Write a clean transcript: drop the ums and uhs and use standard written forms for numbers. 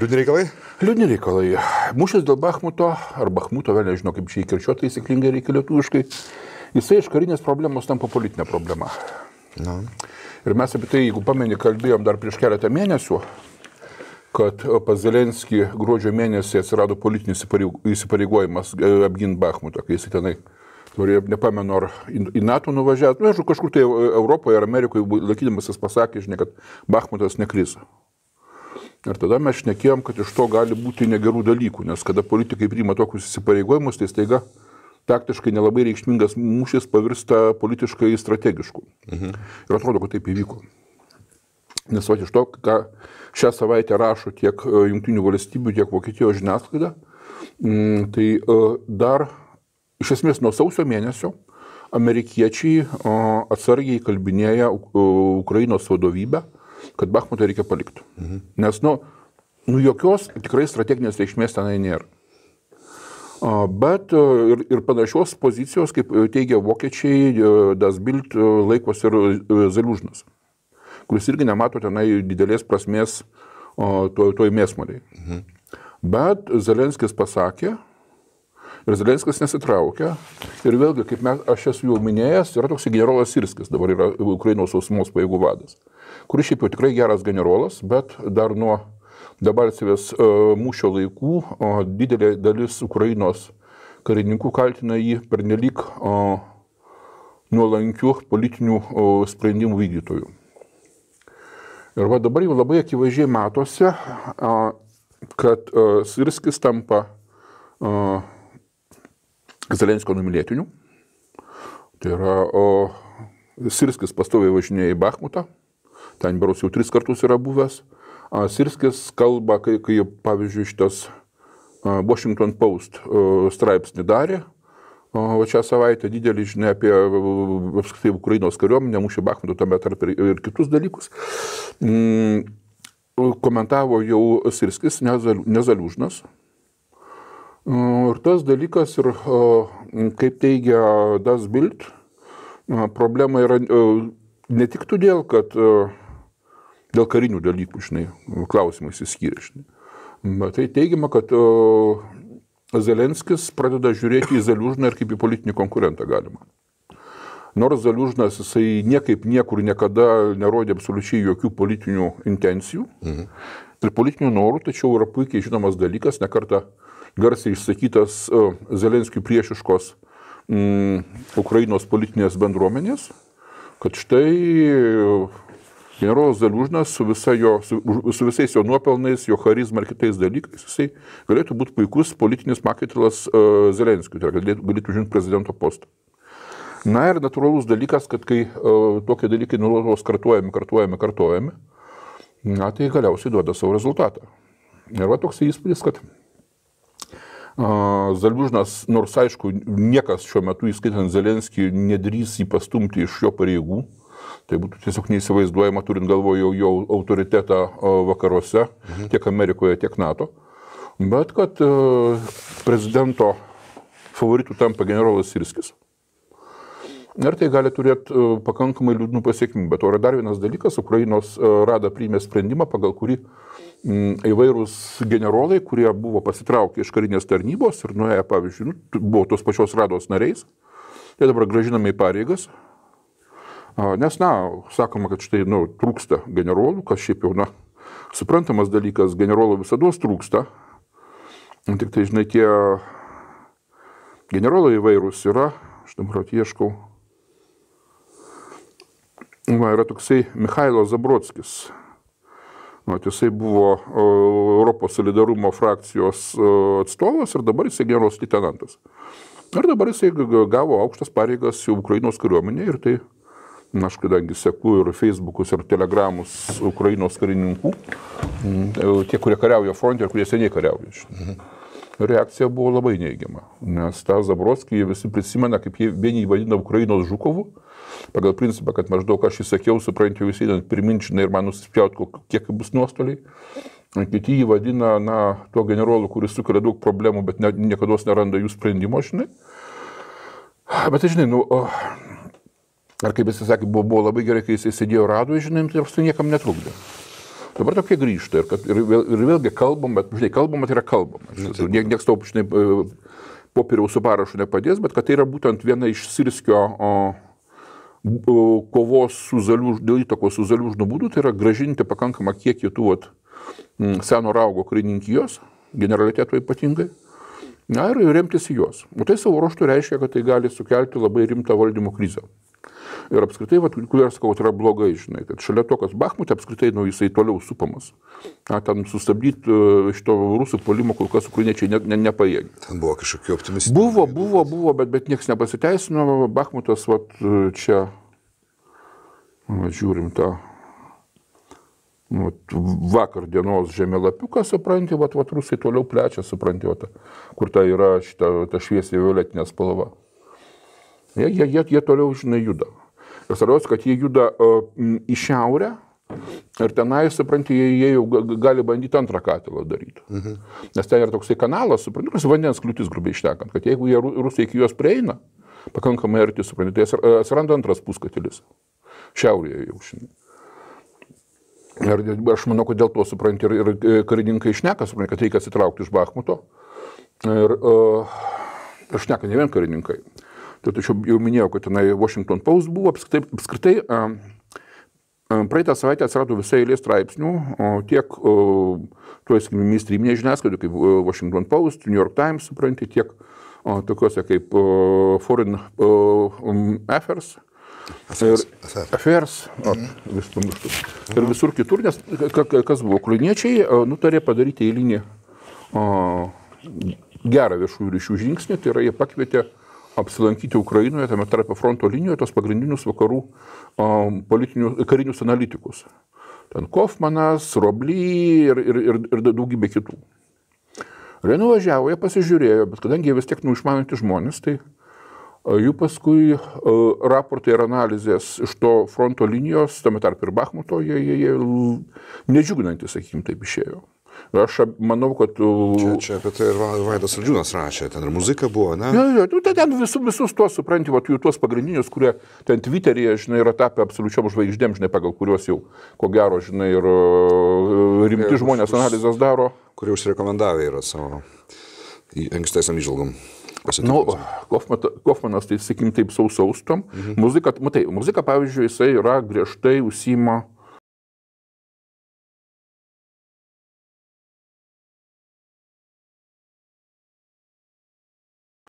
Liūdni reikalai? Liūdni reikalai. Mūšis dėl Bachmuto, ar Bachmuto, vėl nežinau, kaip čia įkirčiuoti taisyklingai reikia lietuviškai, jisai iš karinės problemos tampa politinė problema. Na. Ir mes apie tai, jeigu pameni, kalbėjom dar prieš keletą mėnesių, kad pas Zelenskį gruodžio mėnesį atsirado politinis įsipareigojimas apginti Bachmutą, kai jis tenai turėjo, nepamenu, ar į NATO nuvažiavęs, nu, kažkur tai Europoje ar Amerikoje laikydamas jis pasakė, žinai, kad Bachmutas nekris. Ir tada mes šnekėjom, kad iš to gali būti negerų dalykų, nes kada politikai priima tokius įsipareigojimus, tai staiga taktiškai nelabai reikšmingas mūšis pavirsta politiškai strategišku. Ir atrodo, kad taip įvyko. Nes iš to, ką šią savaitę rašo tiek Jungtinių valstybių, tiek Vokietijos žiniasklaida, tai dar iš esmės nuo sausio mėnesio amerikiečiai atsargiai kalbinėja Ukrainos vadovybę, kad Bachmutą reikia palikti. Nes, jokios tikrai strateginės reikšmės tenai nėra. Bet ir panašios pozicijos, kaip teigia vokiečiai, Das Bild laikosi ir Zaliužnas, kuris irgi nemato tenai didelės prasmės toj mėsmaliai. Bet Zelenskis pasakė, ir Zelenskis nesitraukia. Ir vėlgi, kaip aš esu jau minėjęs, yra toks generolas Sirskis, dabar yra Ukrainos sausumos pajėgų vadas, kuris šiaip jau tikrai geras generolas, bet dar nuo Debalcevės mūšio laikų didelė dalis Ukrainos karininkų kaltina jį pernelyg nuolankių politinių sprendimų vykdytojų. Ir va dabar jau labai akivaizdžiai matosi, kad Sirskis tampa Zelenskio numylėtiniu. Tai yra, Sirskis pastoviai važinėja į Bachmutą, ten berods jau 3 kartus yra buvęs. Sirskis kalba, kai pavyzdžiui šitas Washington Post straipsnį darė, šią savaitę didelį žinia apie apskritai Ukrainos kariuomenę, mūšį Bachmuto, tame tarp ir kitus dalykus. Komentavo jau Sirskis, ne Zaliužnas. Ir tas dalykas, ir kaip teigia Das Bild, problema yra ne tik todėl, kad dėl karinių dalykų, klausimai įsiskyrė. Bet tai teigiama, kad Zelenskis pradeda žiūrėti į Zaliužną ir kaip į politinį konkurentą galima. Nors Zaliužnas jisai niekaip niekur niekada nerodė absoliučiai jokių politinių intencijų ir politinių norų, tačiau yra puikiai žinomas dalykas, nekartą garsiai išsakytas Zelenskiui priešiškos Ukrainos politinės bendruomenės, kad štai generolas Zaliužnas su visais jo nuopelnais, jo charizma ir kitais dalykais, jisai galėtų būti puikus politinis makaitalas Zelenskiui, tai galėtų užimti prezidento postą. Na ir natūralus dalykas, kad kai tokie dalykai nuolatos kartuojami, tai galiausiai duoda savo rezultatą. Ir va toks įspūdis, kad Zaliužnas, nors aišku, niekas šiuo metu, įskaitant Zelenskį, nedrįs jį pastumti iš jo pareigų. Tai būtų tiesiog neįsivaizduojama, turint galvoje jo autoritetą vakaruose, tiek Amerikoje, tiek NATO. Bet kad prezidento favoritų tampa generolas Sirskis. Ir tai gali turėti pakankamai liūdnų pasiekmių. Bet to yra dar vienas dalykas, Ukrainos Rada priėmė sprendimą, pagal kurį įvairūs generolai, kurie buvo pasitraukę iš karinės tarnybos ir nuėję, pavyzdžiui, buvo tos pačios Rados nariais, tai dabar grąžinami į pareigas. Nes, sakoma, kad štai, trūksta generolų, kas šiaip jau, suprantamas dalykas, generolų visados trūksta. Tik tai, žinai, tie generolai įvairūs yra, aš dabar ieškau. Yra toksai Michailo Zabrodskis. Jisai buvo Europos solidarumo frakcijos atstovas ir dabar jisai generolas leitenantas. Ir dabar jisai gavo aukštas pareigas jau Ukrainos kariuomenėje ir tai, aš kadangi seku ir Facebookus, ir telegramus Ukrainos karininkų, tie, kurie kariauja fronte ir kurie seniai kariauja. Reakcija buvo labai neigiama, nes tą Zabrodskį visi prisimena, kaip vieni vadina Ukrainos Žukovu, pagal principą, kad maždaug aš įsakiau, suprantu, visi priminčinai ir man nusispjaut, kiek bus nuostoliai. Kiti jį vadina, tuo generolu, kuris sukelia daug problemų, bet niekados neranda jų sprendimo, žinai. Bet žinai, ar kaip jis sakė, buvo labai gerai, kai jis sėdėjo Radoje, žinai, tai niekam netrukdė. Dabar tokie grįžta ir vėlgi kalbam, bet, žinai, kalbama tai yra kalbama. Niekas tau, žinai, popieriaus su parašu nepadės, bet kad tai yra būtent viena iš Sirskio kovos dėl įtakos su Zaliužnu būdų, tai yra gražinti pakankamą kiekį tų seno raugo karininkijos, generaliteto ypatingai, ir remtis į juos. O tai savo ruožtu reiškia, kad tai gali sukelti labai rimtą valdymo krizę. Ir apskritai, kodėl aš sakau, tai yra blogai, žinai, kad šalia to, kas Bachmute apskritai, jisai toliau supamas. Ten sustabdyti šito rusų puolimo, kol kas ukrainiečiai nepajėgė. Ten buvo kažkokių optimistinių. Buvo, bet niekas nepasiteisino. Bachmutas, čia, žiūrim tą, vakar dienos žemėlapiuką, supranti, rusai toliau plečia, supranti, kur ta yra ta šviesiai violetinė spalva. Jie toliau, žinai, juda. Ir svarbiausia, kad jie juda į šiaurę ir tenai, supranti, jie jau gali bandyti antrą katilą daryti. Nes ten yra toksai kanalas, supranti, vandens kliūtis, grubiai šnekant, kad jeigu jie rusai iki juos prieina, pakankamai arti, supranti, tai atsiranda antras puskatilis. Šiaurėje jau, žinai. Ir aš manau, kad dėl to, supranti, ir karininkai šneka, supranti, kad reikia atsitraukti iš Bachmuto. Ir šneka ne vien karininkai. Tačiau jau minėjau, kad tenai Washington Post buvo, apskritai praeitą savaitę atsirado visai eilė straipsnių, tiek mainstreaminėje žiniasklaidoje, kaip Washington Post, New York Times, supranti, tiek tokiuose kaip Foreign Affairs, vis pamirštu. Ir visur kitur, nes kas buvo, ukrainiečiai nutarė padaryti eilinį gerą viešųjų ryšių žingsnį, tai yra jie pakvietė apsilankyti Ukrainoje, tame tarp fronto linijoje, tos pagrindinius vakarų karinius analitikus. Ten Kofmanas, Robly ir daugybė kitų. Ir jie nuvažiavo, jie pasižiūrėjo, bet kadangi jie vis tiek išmanantys žmonės, tai jų paskui raportai ir analizės iš to fronto linijos, tame tarp ir Bachmuto, jie nedžiuginantys, sakykim, taip išėjo. Aš manau, kad... Čia apie tai ir Vaidas Saldžiūnas rašė, ten ir muzika buvo, ne? Ten visus tuos, supranti, jų tuos pagrindinius, kurie ten Twitteryje, žinai, yra tapę absoliučiom žvaigždėm, žinai, pagal kuriuos jau, ko gero, žinai, ir rimti žmonės analizės daro. Kurie užsirekomendavę yra savo ankstesniam įžvalgom. Kofmanas, tai sakykim, taip saustom. Muzika, pavyzdžiui, jisai yra griežtai užsiima